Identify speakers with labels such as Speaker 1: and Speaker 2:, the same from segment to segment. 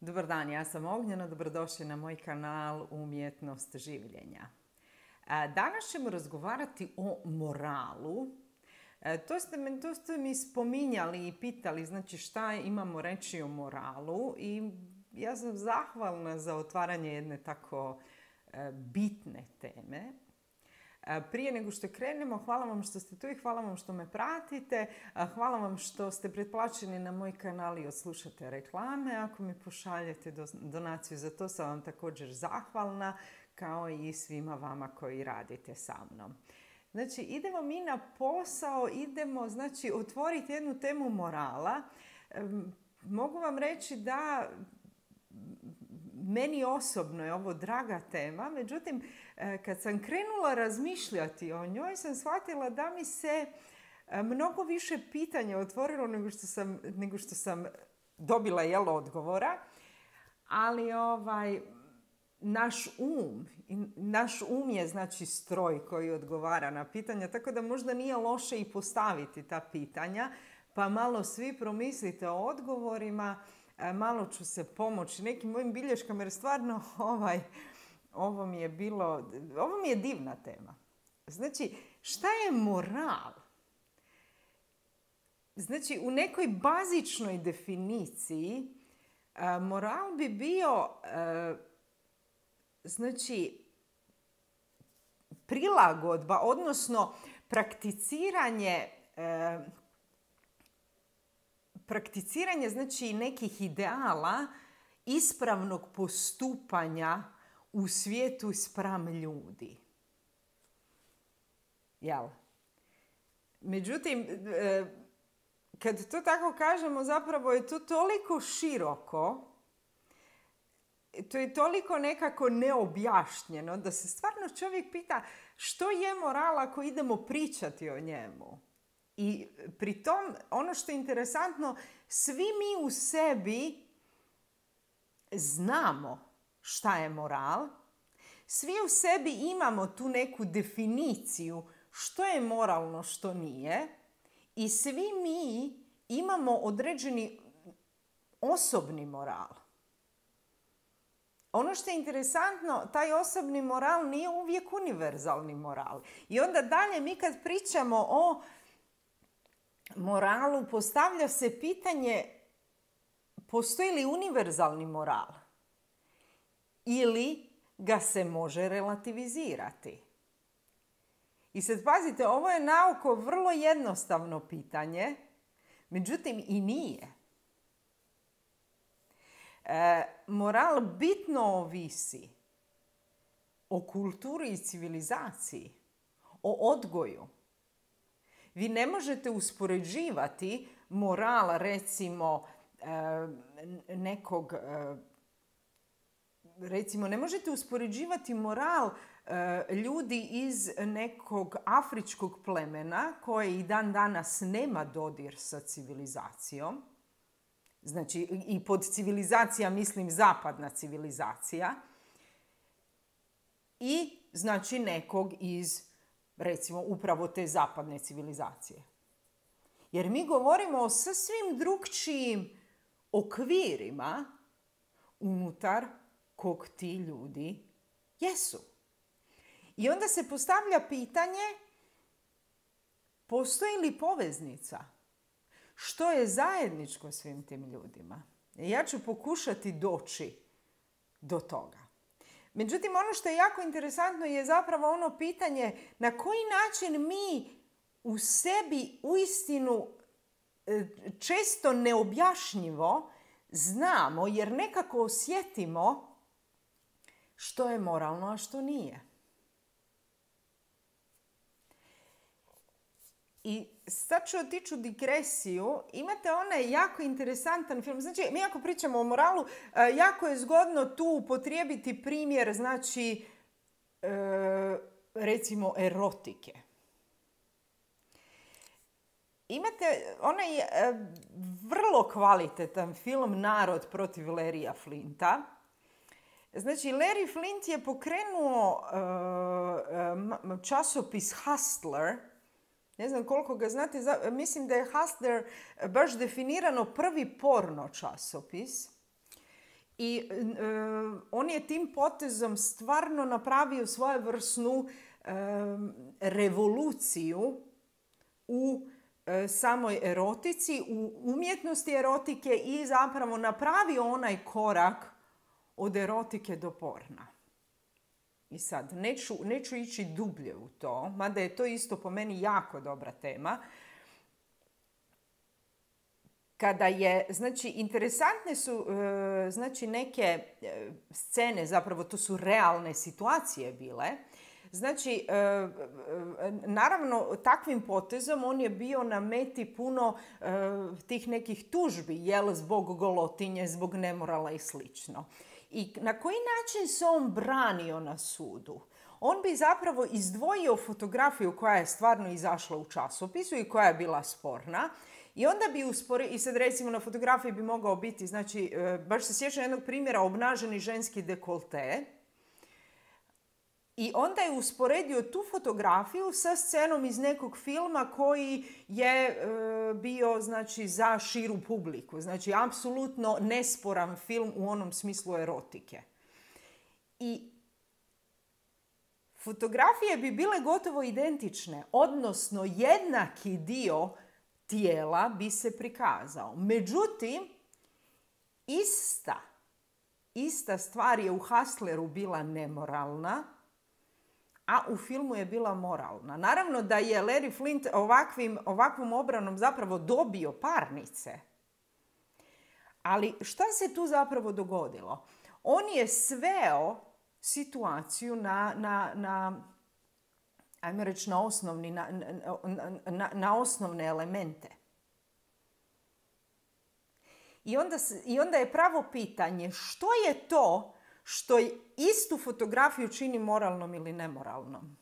Speaker 1: Dobar dan, ja sam Ognjena, dobrodošli na moj kanal Umjetnost življenja. Danas ćemo razgovarati o moralu. To ste mi spominjali i pitali, znači šta imamo reći o moralu i ja sam zahvalna za otvaranje jedne tako bitne teme. Prije nego što krenemo, hvala vam što ste tu i hvala vam što me pratite. Hvala vam što ste pretplaćeni na moj kanal i odslušate reklame. Ako mi pošaljete donaciju, za to sam vam također zahvalna, kao i svima vama koji radite sa mnom. Znači, idemo mi na posao, idemo otvoriti jednu temu morala. Mogu vam reći da meni osobno je ovo draga tema, međutim, kad sam krenula razmišljati o njoj, sam shvatila da mi se mnogo više pitanja otvorilo nego što sam dobila odgovora. Ali naš um je stroj koji odgovara na pitanja, tako da možda nije loše i postaviti ta pitanja, pa malo svi promislite o odgovorima. Malo ću se pomoći nekim mojim bilješkama jer stvarno ovo mi je divna tema. Znači, šta je moral? Znači, u nekoj bazičnoj definiciji moral bi bio prilagodba, odnosno prakticiranje nekih ideala ispravnog postupanja u svijetu spram ljudi. Jel? Međutim, kad to tako kažemo, zapravo je to toliko široko, to je toliko nekako neobjašnjeno, da se stvarno čovjek pita što je moral ako idemo pričati o njemu. I pri tom, ono što je interesantno, svi mi u sebi znamo šta je moral. Svi u sebi imamo tu neku definiciju što je moralno, što nije. I svi mi imamo određeni osobni moral. Ono što je interesantno, taj osobni moral nije uvijek univerzalni moral. I onda dalje mi kad pričamo o moralu, postavlja se pitanje postoji li univerzalni moral ili ga se može relativizirati. I sad pazite, ovo je naoko vrlo jednostavno pitanje, međutim i nije. Moral bitno ovisi o kulturi i civilizaciji, o odgoju. Vi ne možete uspoređivati moral, recimo, ne možete uspoređivati moral ljudi iz nekog afričkog plemena koje i dan danas nema dodir sa civilizacijom. Znači, i pod civilizacija mislim zapadna civilizacija. I znači nekog iz, recimo, upravo te zapadne civilizacije. Jer mi govorimo o sasvim drukčijim okvirima unutar kog ti ljudi jesu. I onda se postavlja pitanje, postoji li poveznica? Što je zajedničko svim tim ljudima? Ja ću pokušati doći do toga. Međutim, ono što je jako interesantno je zapravo ono pitanje na koji način mi u sebi uistinu često neobjašnjivo znamo, jer nekako osjetimo što je moralno, a što nije. I sad ću otići u digresiju. Imate onaj jako interesantan film. Znači, mi ako pričamo o moralu, jako je zgodno tu upotrijebiti primjer, recimo, erotike. Imate onaj vrlo kvalitetan film Narod protiv Larrya Flinta. Znači, Larry Flint je pokrenuo časopis Hustler. Ne znam koliko ga znate, mislim da je Hustler baš definirano prvi porno časopis. I on je tim potezom stvarno napravio svojevrsnu revoluciju u samoj erotici, u umjetnosti erotike i zapravo napravio onaj korak od erotike do porna. I sad, neću ići dublje u to, mada je to isto po meni jako dobra tema. Kada je, znači, interesantne su, znači, neke scene, zapravo to su realne situacije bile. Znači, naravno, takvim potezom on je bio na meti puno tih nekih tužbi, jel, zbog golotinje, zbog nemorala i slično. I na koji način se on branio na sudu? On bi zapravo izdvojio fotografiju koja je stvarno izašla u časopisu i koja je bila sporna. I onda bi i sad recimo na fotografiji bi mogao biti, znači, baš se sjećam jednog primjera, obnaženi ženski dekolte. I onda je usporedio tu fotografiju sa scenom iz nekog filma koji je bio, znači, za širu publiku. Znači, apsolutno nesporan film u onom smislu erotike. I fotografije bi bile gotovo identične, odnosno jednaki dio tijela bi se prikazao. Međutim, ista stvar je u Hustleru bila nemoralna, a u filmu je bila moralna. Naravno da je Larry Flint ovakvom obranom zapravo dobio parnice. Ali šta se tu zapravo dogodilo? On je sveo situaciju ajmo reći, na osnovne elemente. I onda je pravo pitanje što je to što istu fotografiju čini moralnom ili nemoralnom.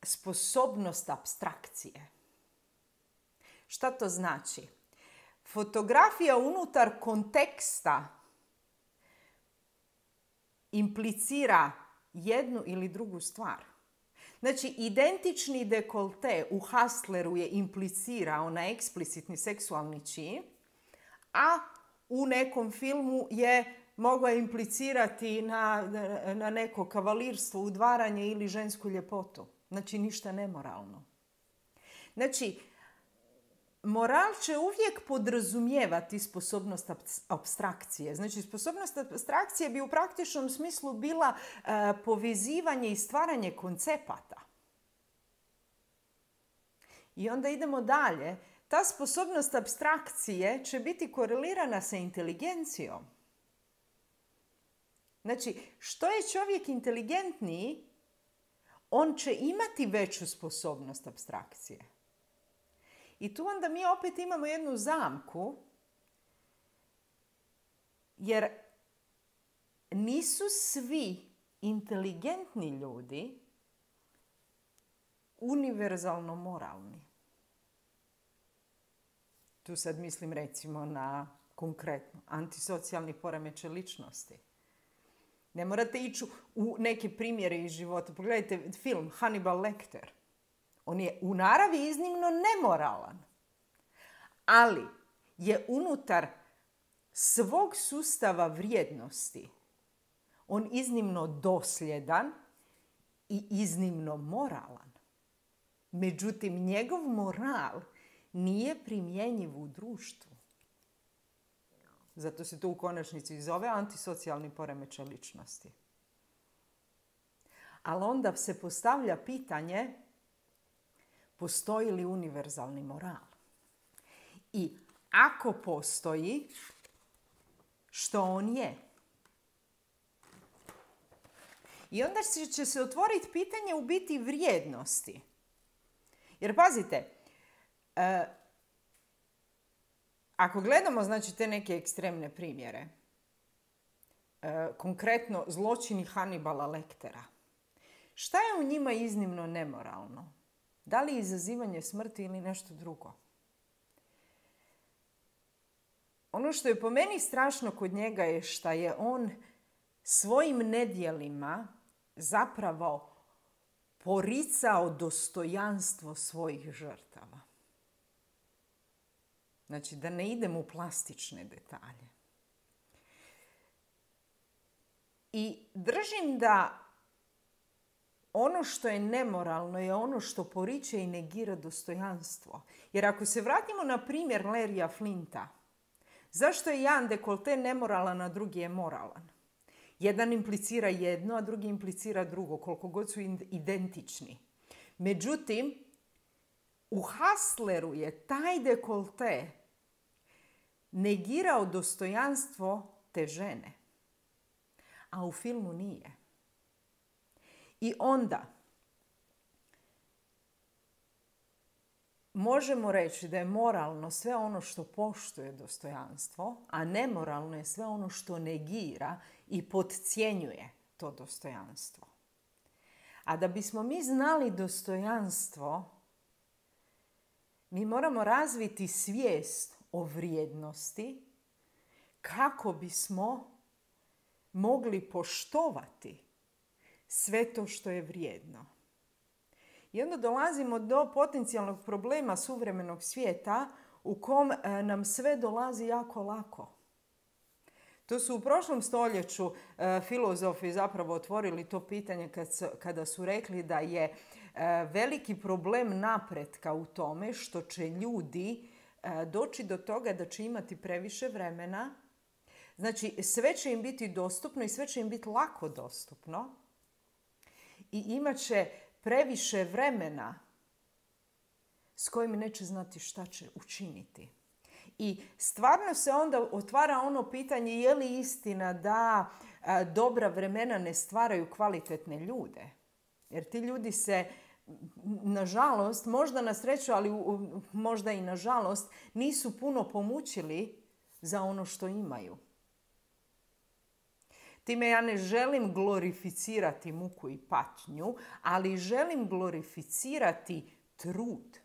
Speaker 1: Sposobnost apstrakcije. Šta to znači? Fotografija unutar konteksta implicira jednu ili drugu stvar. Znači, identični dekolte u Hustleru je implicirao na eksplicitni seksualni čin, a u nekom filmu je mogao implicirati na neko kavalirstvo, udvaranje ili žensku ljepotu. Znači, ništa nemoralno. Znači, moral će uvijek podrazumijevati sposobnost apstrakcije. Znači, sposobnost apstrakcije bi u praktičnom smislu bila povezivanje i stvaranje koncepata. I onda idemo dalje. Ta sposobnost apstrakcije će biti korelirana sa inteligencijom. Znači, što je čovjek inteligentniji, on će imati veću sposobnost apstrakcije. I tu onda mi opet imamo jednu zamku, jer nisu svi inteligentni ljudi univerzalno moralni. Tu sad mislim recimo na konkretno antisocijalni poremećaj ličnosti. Ne morate ići u neke primjere iz života. Pogledajte film Hannibal Lecter. On je u naravi iznimno nemoralan, ali je unutar svog sustava vrijednosti on iznimno dosljedan i iznimno moralan. Međutim, njegov moral nije primjenjiv u društvu. Zato se to u konačnici zove antisocijalni poremećaj ličnosti. Ali onda se postavlja pitanje, postoji li univerzalni moral? I ako postoji, što on je? I onda će se otvoriti pitanje u biti vrijednosti. Jer pazite, ako gledamo, znači, te neke ekstremne primjere, konkretno zločini Hannibala Lectera, šta je u njima iznimno nemoralno? Da li izazivanje smrti ili nešto drugo? Ono što je po meni strašno kod njega je što je on svojim nedjelima zapravo poricao dostojanstvo svojih žrtava. Znači, da ne idemo u plastične detalje. I držim da ono što je nemoralno je ono što poriče i negira dostojanstvo. Jer ako se vratimo na primjer Larrya Flinta, zašto je jedan dekolte nemoralan, a drugi je moralan? Jedan implicira jedno, a drugi implicira drugo, koliko god su identični. Međutim, u Hustleru je taj dekolte negirao dostojanstvo te žene, a u filmu nije. I onda možemo reći da je moralno sve ono što poštuje dostojanstvo, a nemoralno je sve ono što negira i podcjenjuje to dostojanstvo. A da bismo mi znali dostojanstvo, mi moramo razviti svijest o vrijednosti kako bismo mogli poštovati sve to što je vrijedno. I onda dolazimo do potencijalnog problema suvremenog svijeta u kom nam sve dolazi jako lako. To su u prošlom stoljeću filozofi zapravo otvorili to pitanje kada su rekli da je veliki problem napretka u tome što će ljudi doći do toga da će imati previše vremena. Znači, sve će im biti dostupno i sve će im biti lako dostupno. I imat će previše vremena s kojim neće znati šta će učiniti. I stvarno se onda otvara ono pitanje je li istina da dobra vremena ne stvaraju kvalitetne ljude. Jer ti ljudi se, nažalost, možda na sreću, ali možda i nažalost, nisu puno pomučili za ono što imaju. Time ja ne želim glorificirati muku i patnju, ali želim glorificirati trud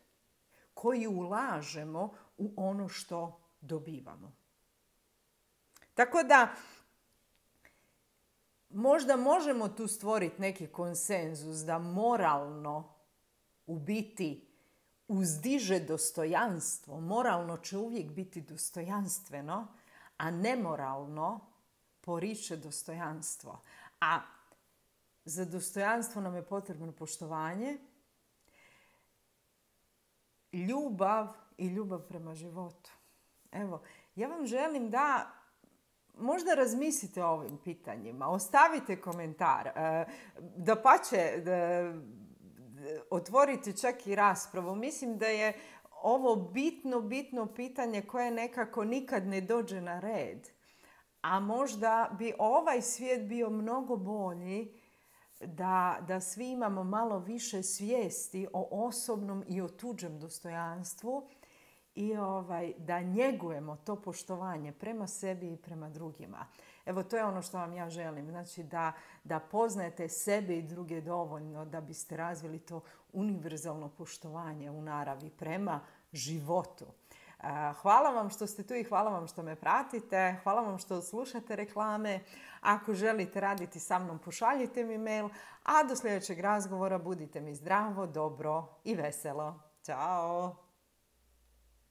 Speaker 1: koji ulažemo u ono što dobivamo. Tako da možda možemo tu stvoriti neki konsenzus da moralno u biti uzdiže dostojanstvo. Moralno će uvijek biti dostojanstveno, a nemoralno poriče dostojanstvo. A za dostojanstvo nam je potrebno poštovanje, ljubav i ljubav prema životu. Evo, ja vam želim da možda razmislite o ovim pitanjima, ostavite komentar, dapače, otvorite čak i raspravu. Mislim da je ovo bitno pitanje koje nekako nikad ne dođe na red. A možda bi ovaj svijet bio mnogo bolji da svi imamo malo više svijesti o osobnom i o tuđem dostojanstvu i da njegujemo to poštovanje prema sebi i prema drugima. Evo, to je ono što vam ja želim. Znači da poznajete sebe i druge dovoljno da biste razvili to univerzalno poštovanje u naravi prema životu. Hvala vam što ste tu i hvala vam što me pratite. Hvala vam što slušate reklame. Ako želite raditi sa mnom, pošaljite mi mail. A do sljedećeg razgovora budite mi zdravo, dobro i veselo. Ćao!